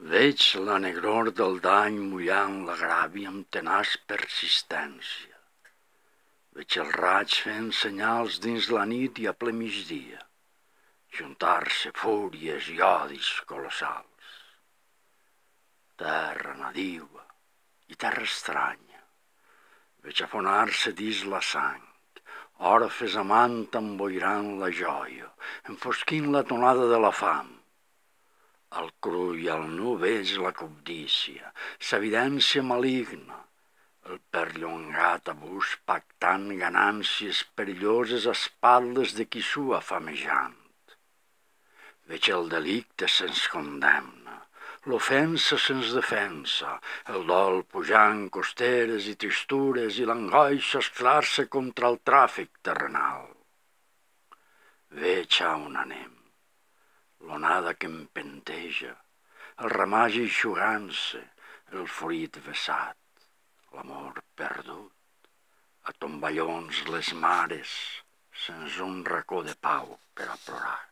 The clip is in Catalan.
Veig la negror del dany mullant la gràvia amb tenaç persistència. Veig els raigs fent senyals dins la nit i a ple migdia, juntar-se fúries i odis colossals. Terra nadiua i terra estranya, veig afonar-se dins la sang, orfes amant emboirant la joia, enfosquint la tonada de la fam. Al cru i al nu veig la cobdícia, s'evidència maligna, el perllongat abús pactant ganàncies perilloses a espatlles de qui sua famejant. Veig el delicte sens condemna, l'ofensa sens defensa, el dol pujant costeres i tristures i l'angoixa esclar-se contra el tràfic terrenal. Veig a on anem, l'onada que empenteja, el ramàs eixugant-se, el fruit vessat, l'amor perdut, a tomballons les mares, sense un racó de pau per a plorar.